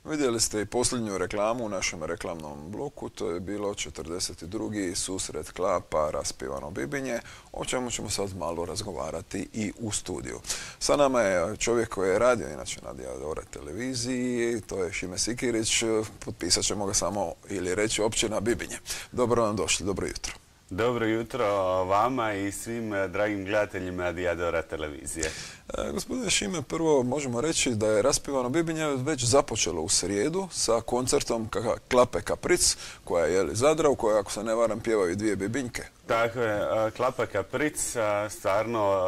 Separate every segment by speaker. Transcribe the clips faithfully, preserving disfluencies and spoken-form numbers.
Speaker 1: Vidjeli ste i posljednju reklamu u našem reklamnom bloku, to je bilo četrdeset drugi susret Klapa raspivano Bibinje, o čemu ćemo sad malo razgovarati i u studiju. Sa nama je čovjek koji je radio inače na Diadora televiziji, to je Šime Sikirić, potpisat ćemo ga samo ili reći općina Bibinje. Dobro vam došli, dobro jutro.
Speaker 2: Dobro jutro vama i svim dragim gledateljima Diadora televizije.
Speaker 1: E, gospodine Šime, prvo možemo reći da je raspivano Bibinje već započelo u srijedu sa koncertom Klape Kapric, koja je jeli Zadra, u kojoj, ako se ne varam, pjevaju dvije bibinjke.
Speaker 2: Tako je, Klapa Kapric, stvarno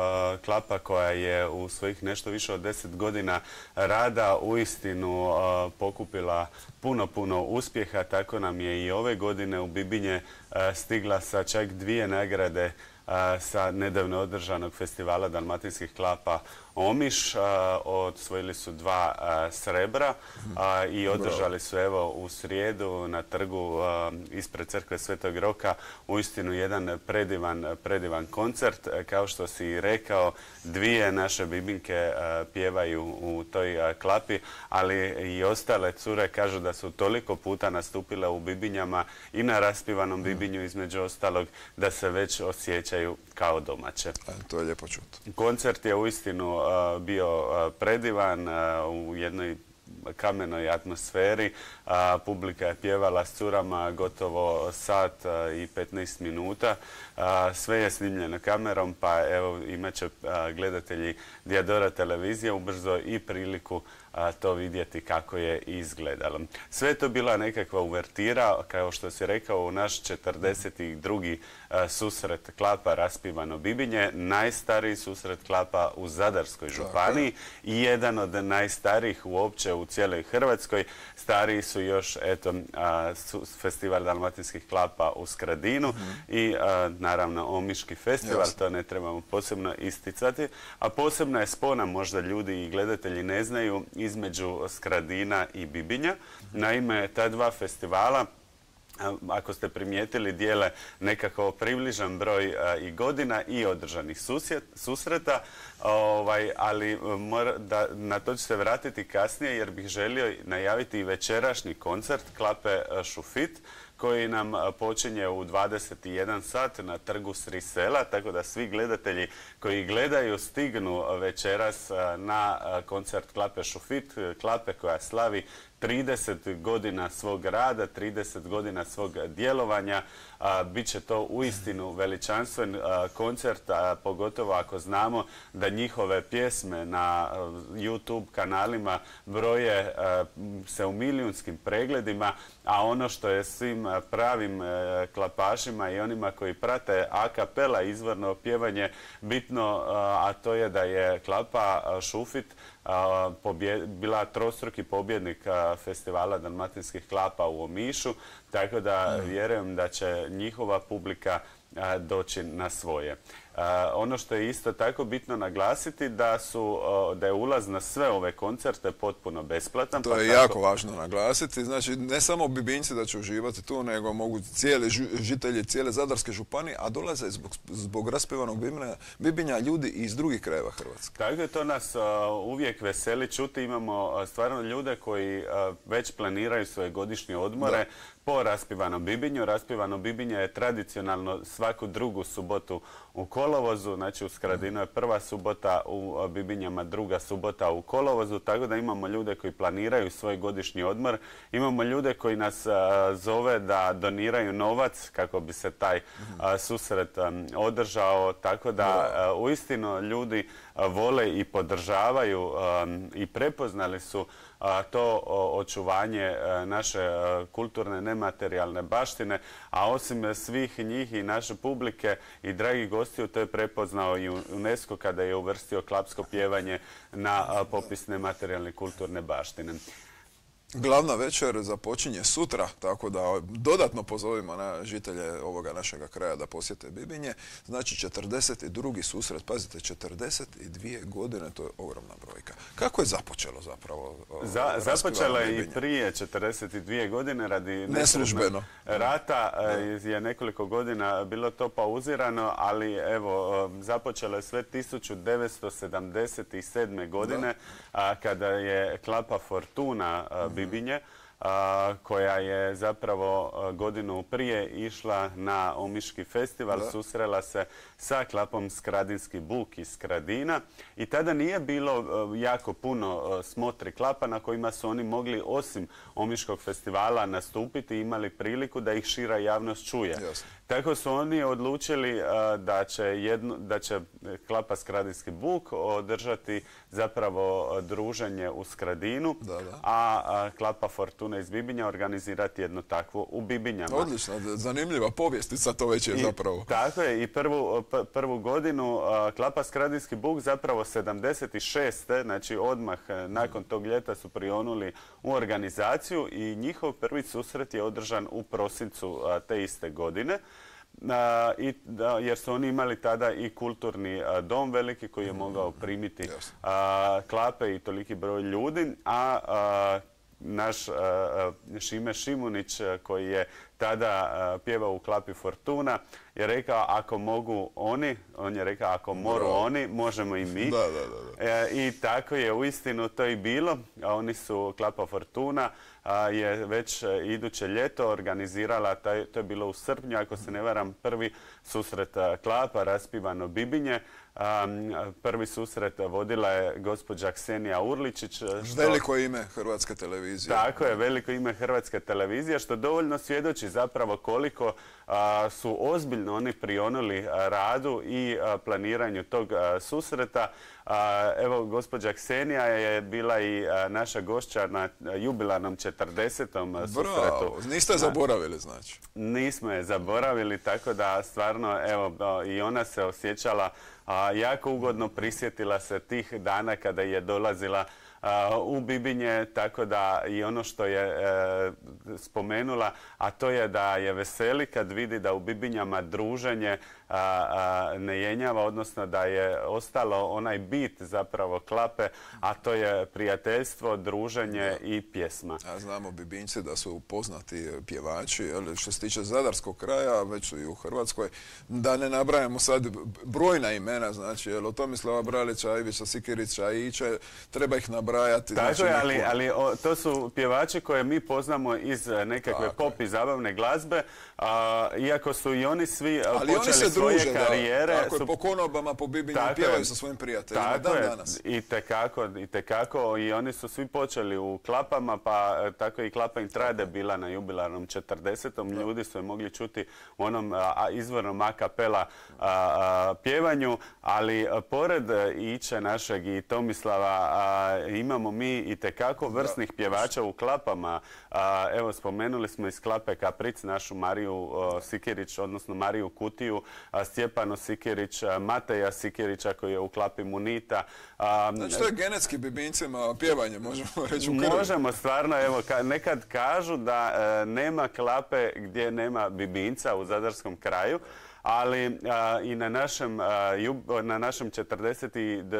Speaker 2: klapa koja je u svojih nešto više od deset godina rada uistinu pokupila puno, puno uspjeha. Tako nam je i ove godine u Bibinje stigla sa čak dvije nagrade sa nedavno održanog festivala dalmatinskih klapa Omiš. Osvojili su dva srebra i održali su evo u srijedu na trgu ispred crkve Svetog Roka uistinu jedan predivan, predivan koncert. Kao što si i rekao, dvije naše bibinke pjevaju u toj klapi, ali i ostale cure kažu da su toliko puta nastupile u Bibinjama i na raspivanom Bibinju između ostalog da se već osjećaju kao domaće.
Speaker 1: E, to je lijepo čuti.
Speaker 2: Koncert je uistinu uh, bio uh, predivan uh, u jednoj kamenoj atmosferi. A, publika je pjevala s curama gotovo sat a, i petnaest minuta. A, sve je snimljeno kamerom, pa evo imat će a, gledatelji Diadora televizije ubrzo i priliku a, to vidjeti kako je izgledalo. Sve je to bila nekakva uvertira, kao što si rekao, u naš četrdeset drugi a, susret Klapa raspivano Bibinje, najstariji susret Klapa u Zadarskoj županiji i jedan od najstarijih uopće u cijeloj Hrvatskoj. Stariji su još eto, a, su, festival dalmatinskih klapa u Skradinu mm-hmm. i a, naravno Omiški festival, yes. To ne trebamo posebno isticati. A posebna je spona, možda ljudi i gledatelji ne znaju, između Skradina i Bibinja. Naime, ta dva festivala, ako ste primijetili, dijele nekako približan broj a, i godina i održanih susjet, susreta, ovaj, ali mora, da, na to ću se vratiti kasnije jer bih želio najaviti i večerašnji koncert Klape Šufit koji nam počinje u dvadeset jedan sat na trgu Sri Sela, tako da svi gledatelji koji gledaju stignu večeras na koncert Klape Šufit, klape koja slavi trideset godina svog rada, trideset godina svog djelovanja. A, bit će to uistinu veličanstven a, koncert, a, pogotovo ako znamo da njihove pjesme na a, YouTube kanalima broje a, se u milijunskim pregledima, a ono što je svim a, pravim a, klapašima i onima koji prate a kapela izvorno pjevanje bitno, a, a to je da je Klapa a, Šufit a, pobje, bila trostruki pobjednik a, festivala dalmatinskih klapa u Omišu, tako da mm. vjerujem da će njihova publika a, doći na svoje. A, ono što je isto tako bitno naglasiti da su a, da je ulaz na sve ove koncerte potpuno besplatan.
Speaker 1: To
Speaker 2: pa
Speaker 1: je
Speaker 2: tako...
Speaker 1: jako važno naglasiti. Znači, ne samo Bibinjci da će uživati tu, nego mogu cijeli žitelji cijele Zadarske županije, a dolaze zbog, zbog raspivanog Bibinja, Bibinja ljudi iz drugih krajeva Hrvatske.
Speaker 2: Tako je, to nas a, uvijek veseli čuti. Imamo a, stvarno ljude koji a, već planiraju svoje godišnje odmore da. po raspivanom Bibinju. Raspivano Bibinje je tradicionalno svaku drugu subotu u kolovozu, znači u Skradinu je prva subota, u Bibinjama druga subota u kolovozu, tako da imamo ljude koji planiraju svoj godišnji odmor. Imamo ljude koji nas a, zove da doniraju novac kako bi se taj a, susret a, održao, tako da a, uistinu ljudi a, vole i podržavaju a, i prepoznali su a, to o, očuvanje a, naše a, kulturne nematerijalne baštine, a osim svih njih i naše publike i dragih gostiju, to je prepoznao i UNESCO kada je uvrstio klapsko pjevanje na a, popis nematerijalne kulturne baštine.
Speaker 1: Glavna večer započinje sutra, tako da dodatno pozovimo na žitelje ovoga našega kraja da posjete Bibinje. Znači četrdeset drugi susret, pazite, četrdeset dvije godine, to je ogromna brojka. Kako je započelo zapravo?
Speaker 2: Za, započelo je i prije četrdeset dvije godine radi
Speaker 1: neslužbeno
Speaker 2: rata, da. Je nekoliko godina bilo to pauzirano, ali evo, započelo je sve tisuću devetsto sedamdeset sedme godine, a, kada je Klapa Fortuna Bibinje, koja je zapravo godinu prije išla na Omiški festival, da. Susrela se sa klapom Skradinski Buk iz Skradina i tada nije bilo jako puno smotri klapa na kojima su oni mogli osim Omiškog festivala nastupiti i imali priliku da ih šira javnost čuje. Jasne. Tako su oni odlučili da će, jedno, da će klapa Skradinski Buk održati zapravo druženje u Skradinu, da, da. a klapa Fortuna iz Bibinja organizirati jedno takvo u Bibinjama.
Speaker 1: Odlično, zanimljiva povjestica to već je
Speaker 2: I,
Speaker 1: zapravo.
Speaker 2: Tako je, i prvu, prvu godinu klapa Skradinski Buk zapravo sedamdeset šeste znači odmah nakon tog ljeta su prionuli u organizaciju i njihov prvi susret je održan u prosincu te iste godine. A, i, da, jer su oni imali tada i kulturni a, dom veliki koji je mogao primiti a, klape i toliki broj ljudi, a, a naš a, a, Šime Šimunić koji je tada a, pjevao u klapi Fortuna je rekao ako mogu oni, on je rekao ako moru Bravo. oni, možemo i mi.
Speaker 1: Da, da, da, da.
Speaker 2: E, I tako je uistinu to i bilo. A oni su, klapa Fortuna a, je već iduće ljeto organizirala, taj, to je bilo u srpnju, ako se ne varam, prvi susret a, klapa raspivano Bibinje. A, prvi susret vodila je gospođa Ksenija Urličić. Što...
Speaker 1: Veliko ime Hrvatske televizije.
Speaker 2: Tako je, veliko ime Hrvatske televizije, što dovoljno svjedoči zapravo koliko a, su ozbiljno oni prionuli a, radu i a, planiranju tog a, susreta. A, evo, gospođa Ksenija je bila i a, naša gošća na jubilarnom četrdesetom susretu.
Speaker 1: Bravo, niste je zaboravili znači?
Speaker 2: Nismo je zaboravili, tako da stvarno, evo, i ona se osjećala a, jako ugodno, prisjetila se tih dana kada je dolazila a, u Bibinje, tako da i ono što je e, spomenula, a to je da je veseli kad vidi da u Bibinjama druženje a, a, ne jenjava, odnosno da je ostalo onaj bit zapravo klape, a to je prijateljstvo, druženje da. i pjesma.
Speaker 1: A znamo Bibinjci da su poznati pjevači, ali što se tiče zadarskog kraja, već su i u Hrvatskoj, da ne nabrajamo sad brojna imena, znači, jel, od Tomislava Bralića, Ivića Sikirića, Iće, treba ih nabrajati.
Speaker 2: Tako
Speaker 1: znači,
Speaker 2: je, ali, neko... ali o, to su pjevači koje mi poznamo iz nekakve Tako pop je. i zabavne glazbe, a, iako su i oni svi ali počeli oni svoje druže, karijere.
Speaker 1: Da. Tako su... je, po konobama, po Bibinju pjevaju sa svojim prijateljima dan je. danas.
Speaker 2: I tekako, i tekako, i oni su svi počeli u klapama, pa tako i klapa Intrade bila na jubilarnom četrdesetom Da. Ljudi su je mogli čuti u onom a, izvornom a kapela a, a, pjevanju, ali a, pored Iće našeg i Tomislava a, imamo mi i tekako vrsnih da. pjevača u klapama. A, evo, spomenuli smo iz klape Kapric našu Mariju a, Sikirić, odnosno Mariju Kutiju, a, Stjepano Sikirić, a, Mateja Sikirića koji je u klapi Munita. A,
Speaker 1: znači to je genetski Bibinjcima pjevanje, možemo reći u krvi.
Speaker 2: Možemo stvarno, evo, ka, nekad kažu da e, nema klape gdje nema Bibinjca u zadarskom kraju, ali a, i na našem, a, jub, na našem četrdeset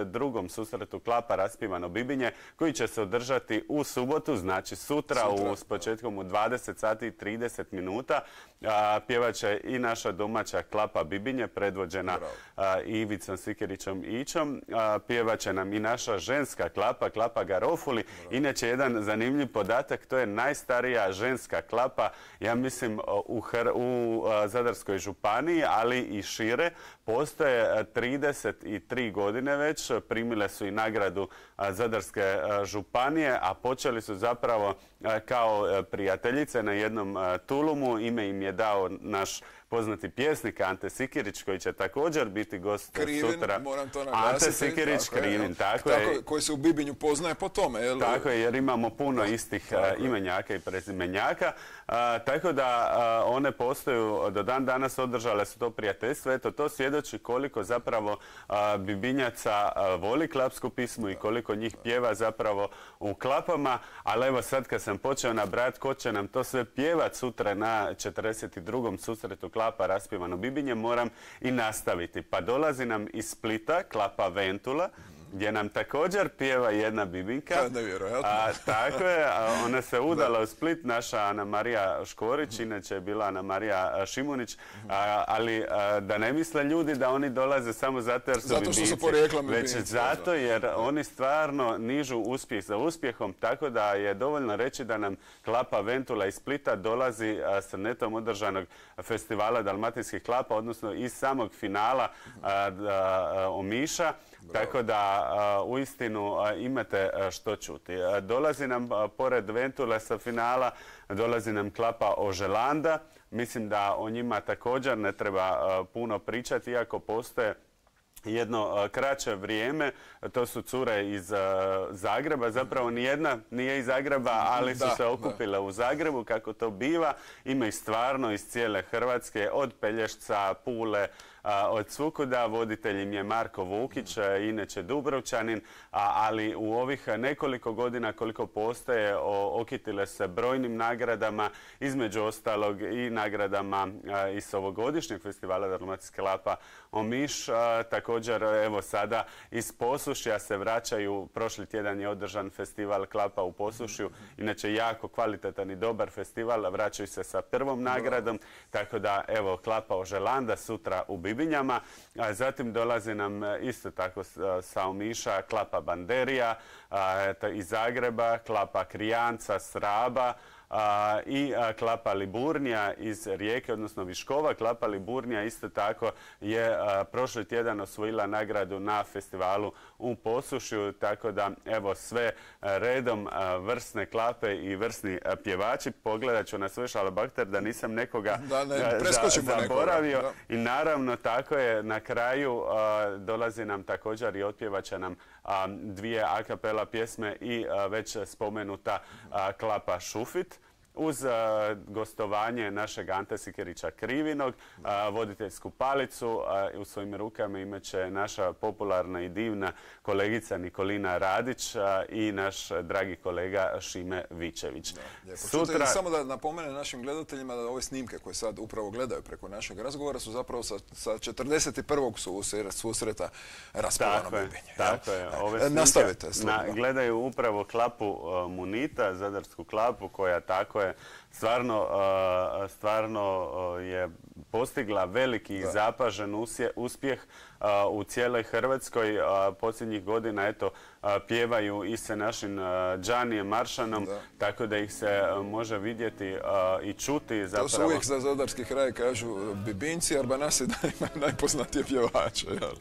Speaker 2: drugom susretu klapa raspivano Bibinje, koji će se održati u subotu, znači sutra, sutra. U, s početkom u dvadeset sati i trideset minuta. A, pjevaće i naša domaća klapa Bibinje, predvođena a, Ivicom Sikirićom Ićom. A, pjevaće nam i naša ženska klapa, klapa Garofuli. Bravo. Inače, jedan zanimljiv podatak, to je najstarija ženska klapa, ja mislim, u, Hr u a, Zadarskoj županiji, ali i šire. Postoje trideset tri godine već, primile su i nagradu Zadarske županije, a počeli su zapravo kao prijateljice na jednom tulumu. Ime im je dao naš poznati pjesnik Ante Sikirić, koji će također biti gost
Speaker 1: Krivin,
Speaker 2: sutra.
Speaker 1: Moram to naglasiti.
Speaker 2: Ante Sikirić, tako Krivin, je, tako, tako je.
Speaker 1: Koji se u Bibinju poznaje po tome. Jel?
Speaker 2: Tako je, jer imamo puno istih tako imenjaka i prezimenjaka. A, tako da a, one postoju, do dan danas održale su to prijateljstvo. Eto, to svjedoči koliko zapravo a, Bibinjaca a, voli klapsku pismu i koliko njih pjeva zapravo u klapama. Ali evo sad kad sam počeo nabrajati ko će nam to sve pjevat sutra na četrdeset drugom susretu klapa raspivano Bibinje, moram i nastaviti. Pa dolazi nam iz Splita klapa Ventula, gdje nam također pjeva jedna bibinka.
Speaker 1: To je nevjerojatno.
Speaker 2: A, tako je, a ona se udala u Split, naša Ana Marija Škorić, inače je bila Ana Marija Šimunić, a, ali a, da ne misle ljudi da oni dolaze samo zato jer su
Speaker 1: zato što su porijeklom
Speaker 2: bibinci, već zato jer oni stvarno nižu uspjeh za uspjehom, tako da je dovoljno reći da nam klapa Ventula iz Splita dolazi a, s netom održanog festivala dalmatinskih klapa, odnosno iz samog finala a, a, Omiša. Bravo. Tako da uh, uistinu uh, imate uh, što čuti. Uh, dolazi nam uh, pored Ventule sa finala, dolazi nam klapa Oželanda. Mislim da o njima također ne treba uh, puno pričati, iako postoje jedno uh, kraće vrijeme. To su cure iz uh, Zagreba. Zapravo nijedna nije iz Zagreba, ali su da, se okupile da. u Zagrebu, kako to biva. Ima ih stvarno iz cijele Hrvatske, od Pelješca, Pule, a, od svukuda. Voditelj im je Marko Vukić, a, inače Dubrovčanin, a, ali u ovih nekoliko godina koliko postoje o, okitile se brojnim nagradama, između ostalog i nagradama a, iz ovogodišnjeg festivala Dalmatinskih klapa Omiš. A, također, evo sada iz Posušja se vraćaju, prošli tjedan je održan festival klapa u Posušju, inače jako kvalitetan i dobar festival, vraćaju se sa prvom nagradom, tako da evo klapa Oželanda sutra u Bibinjama, a zatim dolazi nam isto tako sa Omiša klapa Banderija iz Zagreba, klapa Krijanca s Raba, A, i a, klapa Liburnija iz Rijeke, odnosno Viškova. Klapa Liburnija isto tako je a, prošli tjedan osvojila nagradu na festivalu u Posušju, tako da evo sve a, redom a, vrsne klape i vrsni a, pjevači. Pogledat ću na svoj šalabahter da nisam nekoga
Speaker 1: da, ne,
Speaker 2: a, za, zaboravio.
Speaker 1: Nekoga,
Speaker 2: I naravno tako je na kraju a, dolazi nam također i otpjevaće nam a, dvije a kapela pjesme i a, već spomenuta a, klapa Šufit. Uz uh, gostovanje našeg Ante Sikerića Krivinog, uh, voditeljsku palicu uh, u svojim rukama imat će naša popularna i divna kolegica Nikolina Radić uh, i naš dragi kolega Šime Vičević.
Speaker 1: Da, Sutra... Samo da napomenem našim gledateljima da ove snimke koje sad upravo gledaju preko našeg razgovora su zapravo sa, sa četrdeset prvog susreta raspevano Bibinje.
Speaker 2: Tako je. Ove snimke
Speaker 1: nastavite.
Speaker 2: Na, gledaju upravo klapu uh, Munita, zadarsku klapu koja tako je stvarno, stvarno je postigla veliki i zapažen uspjeh u cijeloj Hrvatskoj. Posljednjih godina eto pjevaju i sa našim Džanijem Maršanom, da. tako da ih se može vidjeti i čuti. Zapravo.
Speaker 1: To su uvijek za zadarski kraj kažu Bibinci, Arbanasi da imaju najpoznatije pjevače. Jel?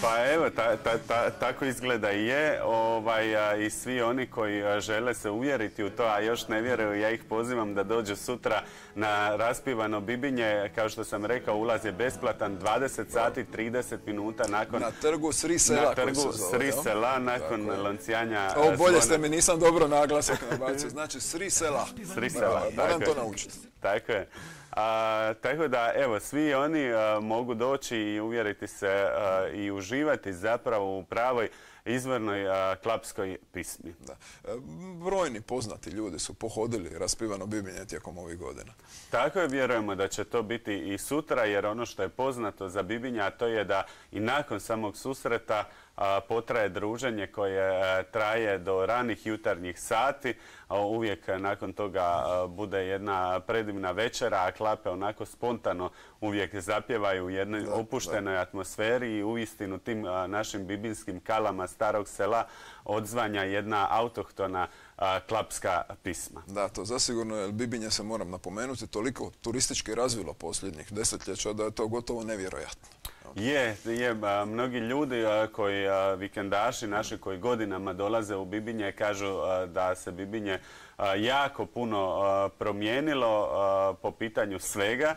Speaker 2: Pa evo, ta, ta, ta, tako izgleda i je. Ovaj, a, I svi oni koji a, žele se uvjeriti u to, a još ne vjeruju, ja ih pozivam da dođu sutra na raspivano Bibinje. Kao što sam rekao, ulaz je besplatan, dvadeset sati, trideset minuta nakon...
Speaker 1: Na trgu Sri Sela.
Speaker 2: Na trgu Sri Sela, nakon lancijanja...
Speaker 1: Ovo bolje ste mi, nisam dobro naglasak nabacio. Znači Sri Sela.
Speaker 2: Sri Sela,
Speaker 1: moram to naučiti.
Speaker 2: Tako je. A, tako da, evo, svi oni a, mogu doći i uvjeriti se a, i uživati zapravo u pravoj izvornoj a, klapskoj pismi.
Speaker 1: Da. E, brojni poznati ljudi su pohodili raspivano Bibinje tijekom ovih godina.
Speaker 2: Tako je, vjerujemo da će to biti i sutra, jer ono što je poznato za Bibinja, to je da i nakon samog susreta a, potraje druženje koje a, traje do ranih jutarnjih sati. A, uvijek a, nakon toga a, bude jedna predivna večera, a klape onako spontano uvijek zapjevaju u jednoj da, opuštenoj da. atmosferi i uistinu tim a, našim bibinskim kalama starog sela odzvanja jedna autohtona a, klapska pisma.
Speaker 1: Da, to zasigurno, jer Bibinje se moram napomenuti toliko turistički razvilo posljednjih desetljeća da je to gotovo nevjerojatno.
Speaker 2: Je, je, a, mnogi ljudi a, koji, a, vikendaši naši koji godinama dolaze u Bibinje kažu a, da se Bibinje a, jako puno a, promijenilo a, po pitanju svega.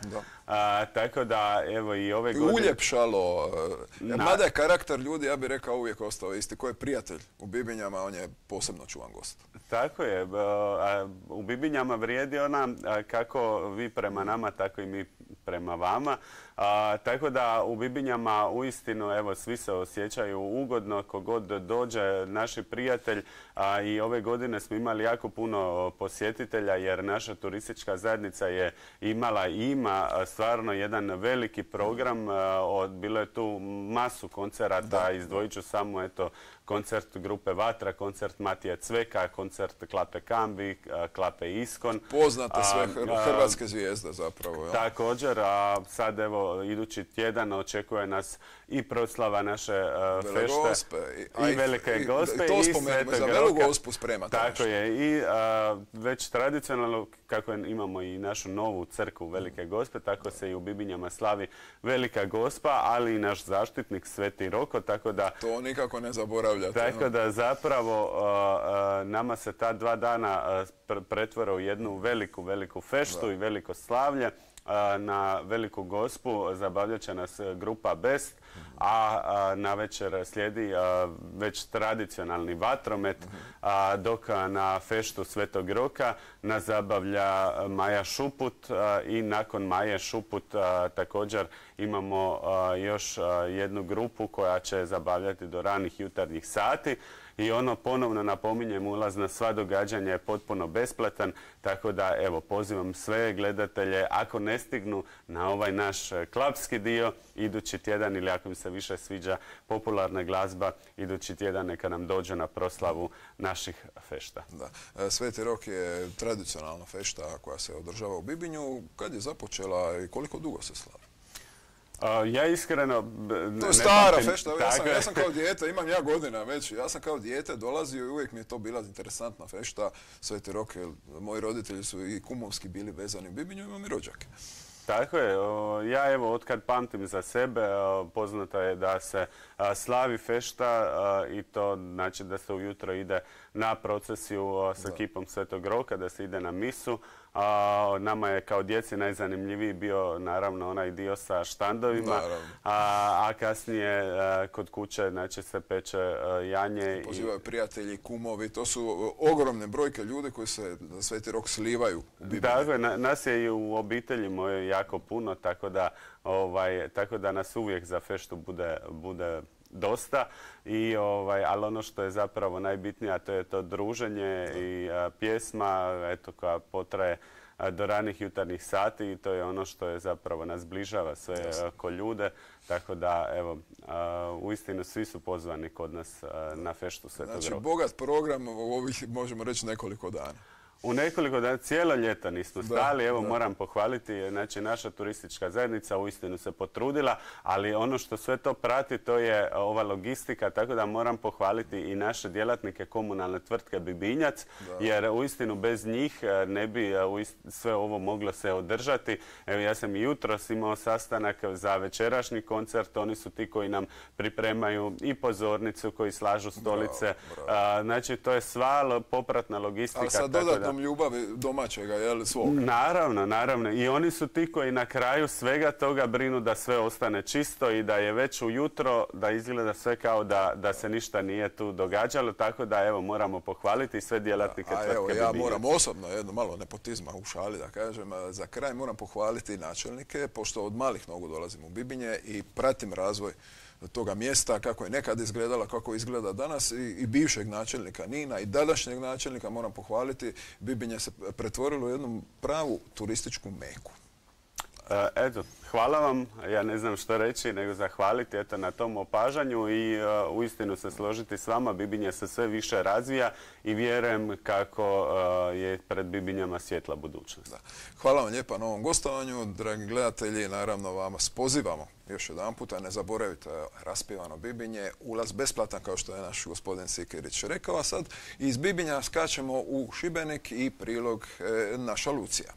Speaker 2: A, tako da, evo i ove godine...
Speaker 1: Uljepšalo. Na... Mada je karakter ljudi, ja bih rekao, uvijek ostao isti. Ko je prijatelj u Bibinjama, on je posebno čuvan gost.
Speaker 2: Tako je. A, u Bibinjama vrijedi ona kako vi prema nama, tako i mi prema vama. A, tako da u Bibinjama uistinu evo svi se osjećaju ugodno, kogod dođe, naši prijatelj, a, i ove godine smo imali jako puno posjetitelja jer naša turistička zajednica je imala i ima stvarno jedan veliki program, a, od, bilo je tu masu koncerata, izdvojit ću samo eto koncert grupe Vatra, koncert Matije Cveka, koncert Klape Kambi, Klape Iskon.
Speaker 1: Poznate sve hrvatske zvijezde zapravo. Ja.
Speaker 2: Također, a sad evo idući tjedan očekuje nas i proslava naše uh, fešte
Speaker 1: Gospe,
Speaker 2: i, i Velike Gospe
Speaker 1: i, i,
Speaker 2: i Svetog
Speaker 1: za Velu Gospu spremate.
Speaker 2: Tako je i uh, već tradicionalno kako imamo i našu novu crkvu Velike Gospe, tako se i u Bibinjama slavi Velika Gospa, ali i naš zaštitnik Sveti Roko, tako da
Speaker 1: to nikako ne zaboravljate.
Speaker 2: Tako da zapravo uh, uh, nama se ta dva dana uh, pretvore u jednu veliku, veliku feštu da. i veliko slavlje. Na Veliku Gospu zabavljat će nas grupa Best, a na večer slijedi već tradicionalni vatromet, dok na feštu Svetog Roka nas zabavlja Maja Šuput i nakon Maje Šuput također imamo još jednu grupu koja će zabavljati do ranih jutarnjih sati. I ono, ponovno napominjem, ulaz na sva događanja je potpuno besplatan, tako da evo pozivam sve gledatelje, ako ne stignu na ovaj naš klapski dio, idući tjedan ili ako im se više sviđa popularna glazba, idući tjedan neka nam dođe na proslavu naših fešta.
Speaker 1: Da. Sveti Rok je tradicionalna fešta koja se održava u Bibinju. Kad je započela i koliko dugo se slavi?
Speaker 2: Uh, ja iskreno...
Speaker 1: To je stara fešta, ja sam, ja sam kao dijete, imam ja godina već, ja sam kao dijete dolazio i uvijek mi je to bila interesantna fešta. Sveti Rok, moji roditelji su i kumovski bili vezani u Bibinju, imam i rođake.
Speaker 2: Tako je. Ja evo, otkad pamtim za sebe, poznato je da se slavi fešta i to znači da se ujutro ide na procesiju sa kipom Svetog Roka, da se ide na misu. A, nama je kao djeci najzanimljiviji bio naravno onaj dio sa štandovima, a, a kasnije a, kod kuće znači, se peče a, janje.
Speaker 1: Pozivaju i prijatelji, kumovi, to su ogromne brojke ljudi koji se za Sveti Rok slivaju u Bibliji.
Speaker 2: Dakle, na, nas je i u obitelji moje jako puno, tako da, ovaj, tako da nas uvijek za feštu bude, bude dosta, i ovaj, ali ono što je zapravo najbitnije, a to je to druženje i a, pjesma eto, koja potraje a, do ranih jutarnjih sati, i to je ono što je zapravo nas zbližava sve a, ko ljude, tako da evo, a, uistinu svi su pozvani kod nas a, na feštu Svetog Roka.
Speaker 1: Znači bogat program u ovih, možemo reći, nekoliko dana.
Speaker 2: U nekoliko dana, cijelo ljeto nismo stali, evo da. Moram pohvaliti, znači naša turistička zajednica uistinu se potrudila, ali ono što sve to prati to je ova logistika, tako da moram pohvaliti i naše djelatnike komunalne tvrtke Bibinjac, da. Jer uistinu bez njih ne bi sve ovo moglo se održati. Evo ja sam i jutros imao sastanak za večerašnji koncert, oni su ti koji nam pripremaju i pozornicu, koji slažu stolice, bravo, bravo. Znači to je sva popratna logistika.
Speaker 1: Ali sad dodatnom ljubavi domaćega, jel, svog?
Speaker 2: Naravno, naravno. I oni su ti koji na kraju svega toga brinu da sve ostane čisto i da je već ujutro, da izgleda sve kao da, da se ništa nije tu događalo, tako da evo moramo pohvaliti sve djelatnike tvrtke Bibinjac.
Speaker 1: Evo ja moram osobno, jedno malo nepotizma u šali da kažem, za kraj moram pohvaliti načelnike, pošto od malih nogu dolazim u Bibinje i pratim razvoj toga mjesta, kako je nekad izgledala, kako izgleda danas, i, i bivšeg načelnika Nina i današnjeg načelnika moram pohvaliti. Bibinje se pretvorilo u jednu pravu turističku meku.
Speaker 2: E, eto, hvala vam. Ja ne znam što reći, nego zahvaliti eto, na tom opažanju i uh, uistinu se složiti s vama. Bibinje se sve više razvija i vjerujem kako uh, je pred Bibinjama svjetla budućnost.
Speaker 1: Da. Hvala vam lijepa na ovom gostovanju. Dragi gledatelji, naravno vas pozivamo još jedan puta, ne zaboravite raspivano Bibinje, ulaz besplatan kao što je naš gospodin Sikirić rekao. A sad iz Bibinja skačemo u Šibenik i prilog e, naša Lucija.